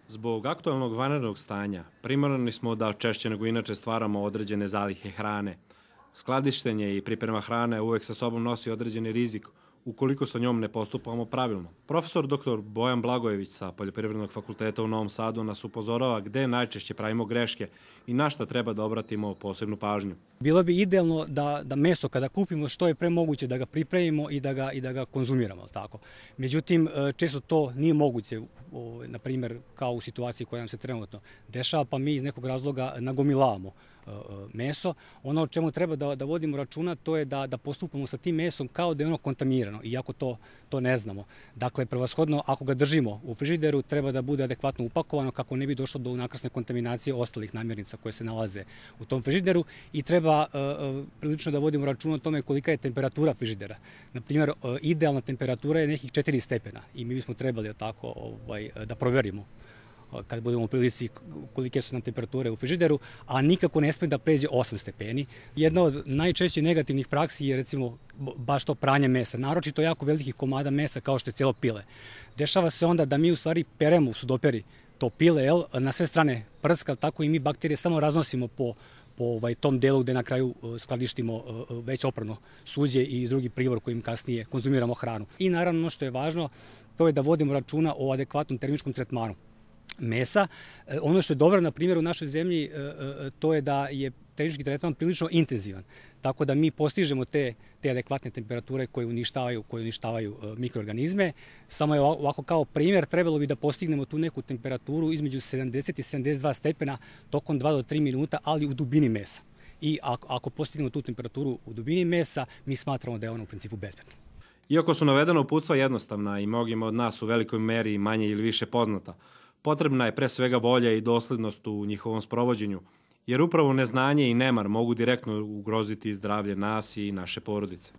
Zbog aktualnog vanrednog stanja, primorani smo da češće nego inače stvaramo određene zalihe hrane. Skladištenje i priprema hrane uvek sa sobom nosi određeni rizik ukoliko sa njom ne postupamo pravilno. Profesor dr. Bojan Blagojević sa Poljoprivrednog fakulteta u Novom Sadu nas upozorava gde najčešće pravimo greške i na šta treba da obratimo posebnu pažnju. Bilo bi idealno da meso kada kupimo što je pre moguće da ga pripremimo i da ga konzumiramo. Tako. Međutim, često to nije moguće, na primjer kao u situaciji koja nam se trenutno dešava, pa mi iz nekog razloga nagomilavamo meso. Ono o čemu treba da vodimo računa to je da postupamo sa tim mesom kao da je ono kontaminirano, iako to ne znamo. Dakle, prevashodno, ako ga držimo u frižideru, treba da bude adekvatno upakovano kako ne bi došlo do unakrsne kontaminacije ostalih namirnica koje se nalaze u tom frižideru i treba prilično da vodimo računa o tome kolika je temperatura frižidera. Na primjer, idealna temperatura je nekih 4 stepena i mi bismo trebali da proverimo kad budemo u prilici kolike su nam temperature u frižideru, a nikako ne sme da pređe 8 stepeni. Jedna od najčešćih negativnih praksi je recimo baš to pranje mesa, naročito jako velikih komada mesa kao što je cijelo pile. Dešava se onda da mi u stvari peremo u sudoperi to pile, na sve strane prska, tako i mi bakterije samo raznosimo po tom delu gde na kraju skladištimo već oprano suđe i drugi pribor kojim kasnije konzumiramo hranu. I naravno ono što je važno, to je da vodimo računa o adekvatnom termičkom tretmanu mesa. Ono što je dobro, na primjer, u našoj zemlji, to je da je termički tretman prilično intenzivan. Tako da mi postižemo te adekvatne temperature koje uništavaju mikroorganizme. Samo je ovako kao primjer, trebalo bi da postignemo tu neku temperaturu između 70 i 72 stepena tokom 2 do 3 minuta, ali u dubini mesa. I ako postignemo tu temperaturu u dubini mesa, mi smatramo da je ona u principu bezbedna. Iako su navedena uputstva jednostavna i mnogima od nas u velikoj meri manje ili više poznata, potrebna je pre svega volja i doslednost u njihovom sprovođenju, jer upravo neznanje i nemar mogu direktno ugroziti zdravlje nas i naše porodice.